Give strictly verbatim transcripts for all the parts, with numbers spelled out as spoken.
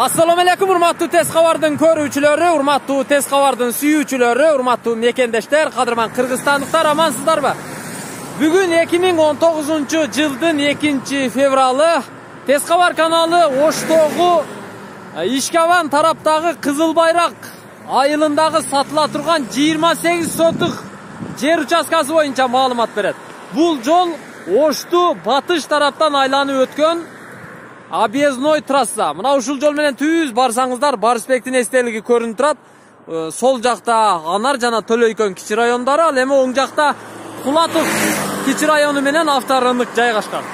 Assalomu alaykum, urmatlı tez xabardın körүүчүлөрү, urmatlı tez xabardın sүйүүчүлөрү, urmatlı mekendештер, кадырман кыргызстандыктар, амансыздарбы? Бүгүн эки миң он тогузунчу жылдын экинчи февралы Тез Xabar каналы Оштогу Ишкаван тараптагы Кызыл Байрак айылындагы сатыла турган жыйырма сегиз сотук жер участкасы боюнча маалымат берет. Бул жол Ошту батыш тараптан айланып өткөн объездной трасса. Мына ушул жол менен түз барсаңыздар, Барысбектин эстелиги көрүнүп турат. Сол жакта Анар жана Төлөйкөн кичи райондору, ал эми оң жакта Кулатов кичи району менен авторынок жайгашкан.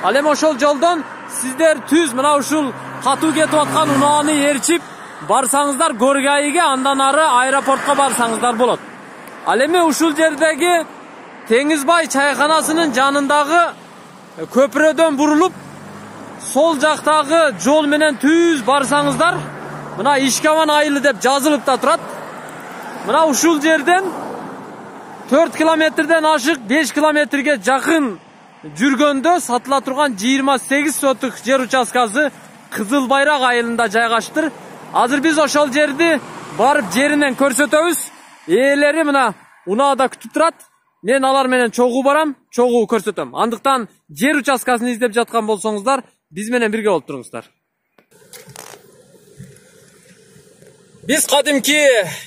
Ал эми ошол жолдон сиздер түз мына ушул катуу кетип аткан унааны ээрчип барсаңыздар Горгайга, андан ары аэропортко барсаңыздар болот. Ал эми ушул жердеги Теңизбай чайканасынын жанындагы көпүрөдөн бурулуп сол жактагы жол менен түз барсаңыздар, мына Ишкаван айылы деп жазылып да турат. Мына ушул жерден төрт километрден ашык беш километрге жакын жүргөндө сатыла турган жыйырма сегиз сотук жер участкасы Кызыл Байрак айылында жайгаштыр. Азыр биз ошол жерди барып жеринен көрсөтөбүз. Ээлери мына унаада күтүп турат. Мен алар менен чогуу барам, чогуу көрсөтөм. Андыктан жер участкасын издеп жаткан болсоңуздар, биз менен бирге болуп туруңуздар. Биз кадимки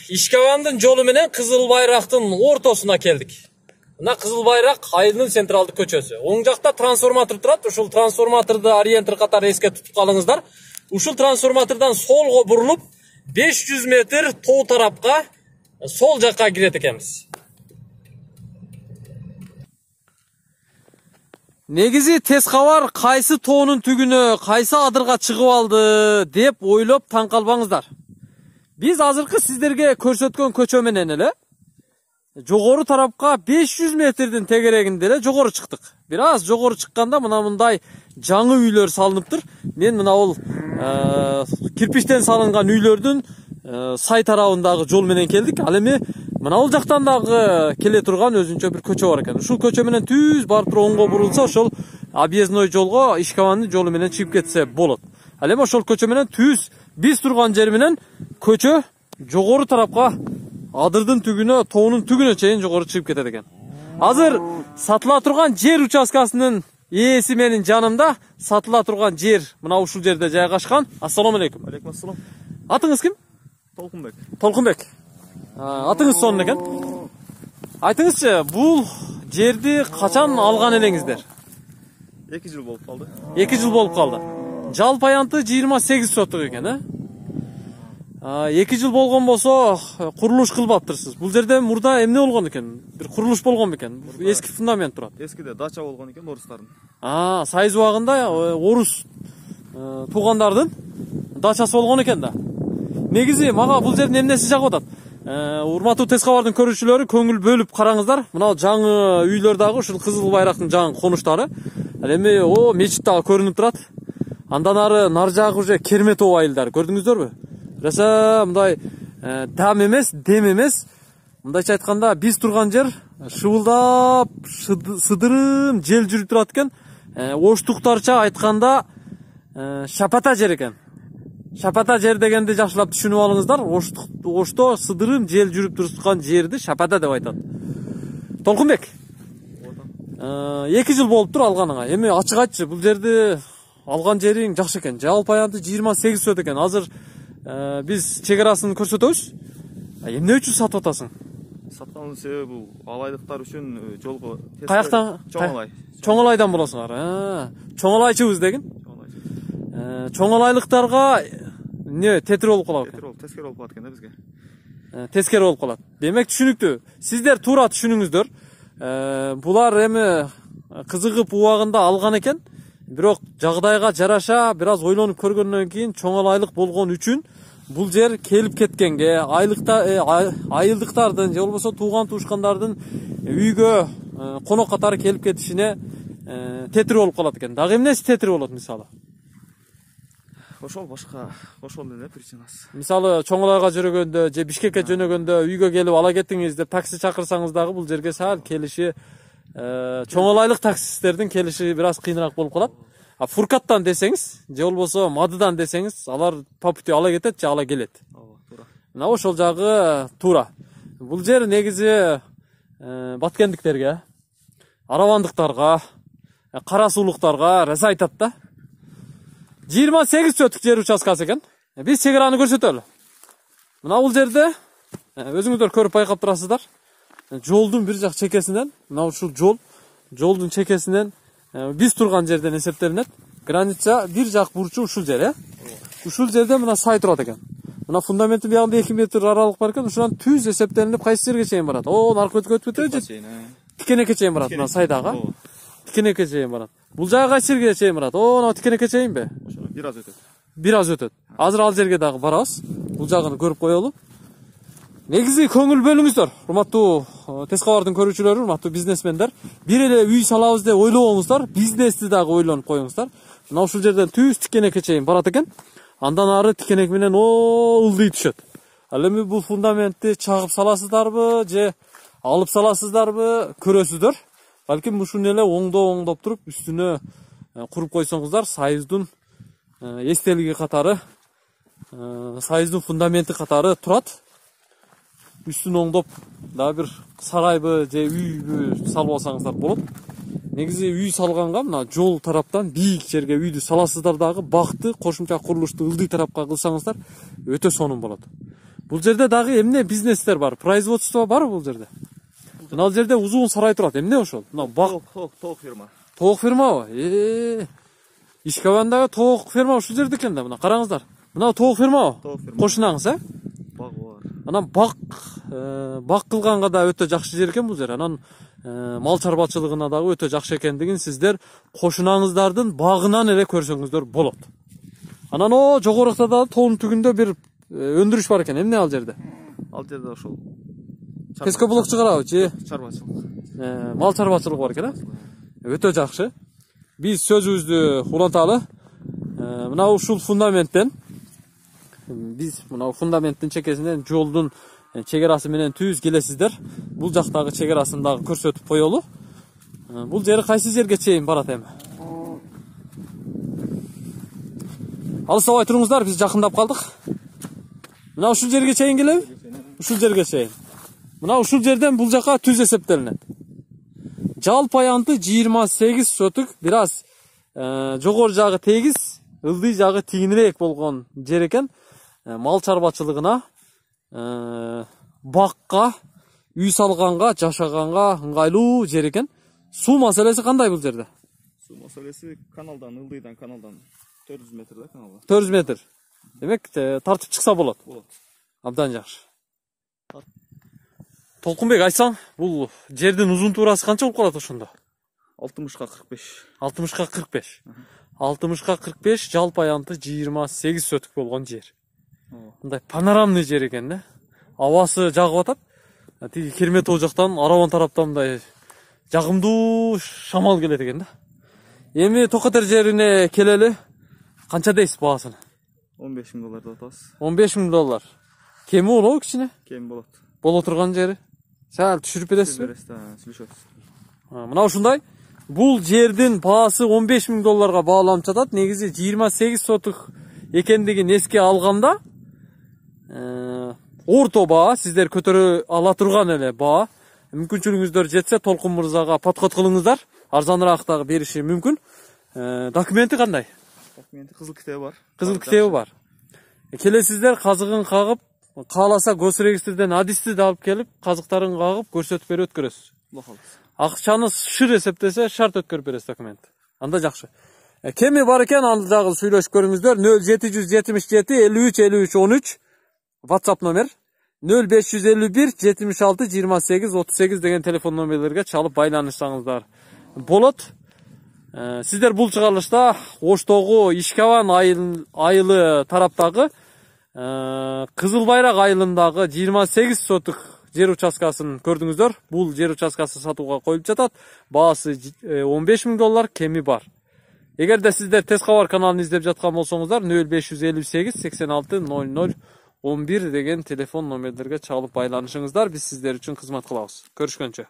Ишкавандын жолу менен Кызыл Байрактын ортосуна келдик. Мына Кызыл Байрак айылынын централдык көчөсү. Оң жакта трансформатор турат. Ушул трансформаторду ориентир катары эске тутуп калыңыздар. Ушул трансформатордон солго бурулуп беш жүз метр тоо тарапка, сол жакка кирет экенбиз. Негизи Тез Xabar кайсы тоонун түгүнө, кайсы адырга чыгып алды деп ойлоп таң калбаңыздар. Биз азыркы сиздерге көрсөткөн көчө менен эле жогору тарапка беш жүз метрдин тегерегинде эле жогору чыктык. Бир аз жогору чыкканда мына мындай жаңы үйлөр салыныптыр. Мен мына ол кирпичтен салынган үйлөрдүн сай тарабындагы жол менен келдик. Ал эми мына ол жактан дагы келе турган өзүнчө бир көчө бар экен. Ушул көчө менен түз барып туруп оңго бурулса, ошол объездной жолго, Ишкавандын жолу менен чыгып кетсе болот. Ал эми ошол көчө менен түз биз турган жер менен көчө жогору тарапка, адырдын түгүнө, тоонун түгүнө чейин жогору чыгып кетет экен. Азыр сатыла турган жер участкасынын ээси менин жанымда. Сатыла турган жер мына ушул жерде жайгашкан. Ассаламу алейкум. Алейкум ассалам. Атыңыз ким? Толкунбек. Толкунбек. Атыңыз сонун экен. Айтыңызчы, бул жерди качан алган элеңиздер? эки жыл болуп калды. эки жыл болуп калды. Жалпы аянты жыйырма сегиз сотук экен, э? эки жыл болгон болсо, курулуш кылбаптырсыз. Бул жерде мурда эмне болгон экен? Бир курулуш болгон бекен? Эски фундамент турат. Эскиде дача болгон экен орустардын. А, сайыз убагында орус туугандардын дачасы болгон экен да. Негизи мага бул жердин эмнеси жагып атат? Урматтуу Тез Xabar'дын көрүүчүлөрү, көңүл бөлүп караңыздар. Мына жаңы үйлөр дагы ушул Кызыл Байрактын жаңы конуштары. Ал эми о мечит дагы көрүнүп турат. Андан ары нар жагы уже Керметов айылдары. Көрдүңүздөрбү? Раса мындай дам эмес, дем эмес. Мындайча айтканда, биз турган жер шыбылдап, сыдырым жел жүрүп турат экен. Оштуктарча айтканда шапата жер экен. Шапата жер дегенди жакшылап түшүнүп алыңыздар. Ошто сыдырым жел жүрүп турган жерди шапата деп айтат. Толкунбек. эки жыл болуптур алганыңа. Эми ачык айтчы, бул жерди алган жериң жакшы экен. Жалпы аянты жыйырма сегиз сот экен. Азыр биз чек арасын көрсөтөбүз. Эмне үчүн сатып атасың? Сатканын себеби бул алайлыктар үчүн жолго Каяктан? Чоңалай. Чоңалайдан болосуңар. Чоңалайчыбыз дегин. Чоңалайлыктарга не тетир болуп калат экен? Тетир болуп, тескери болуп калат экен да бизге. Тескери болуп калат. Демек түшүнүктүү. Сиздер туура түшүнүңүздөр. Булар эми кызыгып убагында алган экен. Бирок жагдайга жараша бир аз ойлонуп көргөндөн кийин чоңалайлык болгон үчүн бул жер келип кеткенге, айлыкта айылдыктардын же болбосо тууган туушкандардын үйгө конок катары келип кетишине тетир болуп калат экен. Дагы эмнеси тетир болот мисалы? Ошол башка, ошол эле причинасы. Мисалы Чоңалайга жүргөндө же Бишкекке жөнөгөндө үйгө келип ала кетиңиз деп такси чакырсаңыз дагы бул жерге саал келиши чоңалайлык таксисттердин келиши бир аз кыйыныраак болуп калат. А Фуркаттан десеңиз, же болбосо Мадыдан десеңиз, алар по пути ала кетет же ала келет. Ооба, туура. Мына ошол жагы туура. Бул жер негизи баткендиктерге, аравандыктарга, кара суулуктарга раза айтат да. жыйырма сегиз сотук жер участкасы экен. Биз чек араны көрсөтөлү. Мына бул жерде өзүңүздөр көрүп байкап турасыздар. Жолдун бир жак чекесинен, мына ушул жол, жолдун чекесинен биз турган жерден эсептелинет. Граница бир жак бурчу ушул жер, э? Ушул жерде мына сай турат экен. Мына фундаменттин биягында эки метр аралык бар экен. Ушунан түз эсептелинип кайсы жерге чейин барат? О, наркы өтүп өтүп өтүп тикенекке чейин барат. Мына сайдагы. Тикенекке чейин барат. Бул жагы кайсы жерге чейин барат? О, мына тикенекке чейинби? Ошо бир аз өтөт. Бир аз өтөт. Азыр ал жерге дагы барабыз. Бул жагын көрүп коелу. Негизи көңүл бөлүңүздөр, урматтуу Тез кабардын көрүүчүлөрү, урматтуу бизнесмендер. Бир эле үй салабыз деп ойлобоңуздар, бизнести дагы ойлонуп коюңуздар. Мына ушул жерден түз тикенекке чейин барат экен. Андан ары тикенек менен о ылдый түшөт. Ал эми бул фундаментти чагып саласыздарбы же алып саласыздарбы көрөсүздөр. Балким ушуну эле оңдоп-оңдоп туруп үстүнө куруп койсоңуздар, союздун эстелиги катары, союздун фундаменти катары турат. Үстүн оңдоп дагы бир сарайбы же үйбү салып алсаңыздар болот. Негизи үй салганга мына жол тараптан бийик жерге үйдү саласыздар дагы бакты, кошумча курулушту ылдый тарапка кылсаңыздар өтө сонун болот. Бул жерде дагы эмне бизнестер бар, производство барбы бул жерде? Мына бул жерде узун сарай турат. Эмне ошол? Мына бак, тоок фирма. Тоок фирмабы? Э. Ишкабандагы тоок фирма ушул жерде экен да. Мына караңыздар. Мына тоок фирмабы? Кошунаңыз, э? Баг бар. Анан бак, бак кылганга да өтө жакшы жер экен бул жер. Анан мал чарбачылыгына дагы өтө жакшы экендигин сиздер кошунаңыздардын багынан эле көрсөңүздөр болот. Анан о жогорукта да тоонун түгүндө бир өндүрүш бар экен. Эмне ал жерде? Ал жерде ошол Пескоблок чыгарабы же чарбачылык. Мал чарбачылыгы бар экен, э? Өтө жакшы. Биз сөзүбүздү уланталы. Мына ушул фундаменттен биз мына фундаменттин чекесинен жолдун чек арасы менен түз келесиздер. Бул жактагы чек арасын дагы көрсөтүп коелу. Бул жер кайсы жерге чейин барат эми? Алыстабай туруңуздар, биз жакындап калдык. Мына ушул жерге чейин келеби? Ушул жерге чейин. Мына ушул жерден бул жака түз эсептелинет. Жалпы аянты жыйырма сегиз сотук, бир аз жогору жагы тегиз, ылдый жагы тигинирээк болгон жер экен. Мал чарбачылыгына, бакка, үй салганга, жашаганга ыңгайлуу жер экен. Суу маселеси кандай бул жерде? Суу маселеси каналдан, ылдыйдан каналдан төрт жүз метр да каналга. төрт жүз метр. Демек, тартып чыкса болот. Болот. Абдан жакшы. Толкунбек, айтсаң, бул жердин узун туурасы канча болуп калат ошондо? алтымышка кырк беш. алтымышка кырк беш. алтымышка кырк беш, жалпы аянты жыйырма сегиз сотук болгон жер. Мындай панорамный жер экен да. Абасы жагып атат. Тиги Керметоо жактан, Араван тараптан мындай жагымдуу шамал келет экен да. Эми Токотер жерине келели. Канча дейсиз баасын? он беш миң доллар деп атабыз. он беш миң доллар. Кеми болобу кичине? Кем болот. Боло турган жери. Сәл түшүрүп бересизби? Бересиз да, сүйлөшөбүз. Мына ушундай. Бул жердин баасы он беш миң долларга бааланып жатат. Негизи жыйырма сегиз сотук экендигин эске алганда, орто баа, сиздер көтөрө ала турган эле баа. Мүмкүнчүлүгүңүздөр жетсе, Толкун мырзага подход кылыңыздар. Арзаныраак дагы бериши мүмкүн. Документи кандай? Документи кызыл китеби бар. Кызыл китеби бар. Келесиздер казыгын кагып, кааласа госрегистрден адисти да алып келип, казыктарын кагып көрсөтүп берип өткөрөсүз. Акчаны шыр эсептесе, шарт өткөрүп бересиз документ. Анда жакшы. Кеми бар экен, аны дагы сүйлөшүп көрүңүздөр. нөл жети жүз жетимиш жети элүү үч элүү үч он үч WhatsApp номер. нөл беш жүз элүү бир жетимиш алты жыйырма сегиз отуз сегиз деген телефон номерлерге чалып байланышсаңыздар болот. Сиздер бул чыгарылышта Оштогу Ишкабан айылы тараптагы Кызыл Байрак айылындагы жыйырма сегиз сотук жер участкасын көрдүңүздөр. Бул жер участкасы сатууга коюлуп жатат. Баасы он беш миң доллар, кеми бар. Эгерде сиздер Тез кабар каналын издеп жаткан болсоңуздар, нөл беш жүз элүү сегиз сексен алты ноль ноль он бир деген телефон номерлерге чалып байланышыңыздар. Биз сиздер үчүн кызмат кылабыз. Көрүшкөнчө.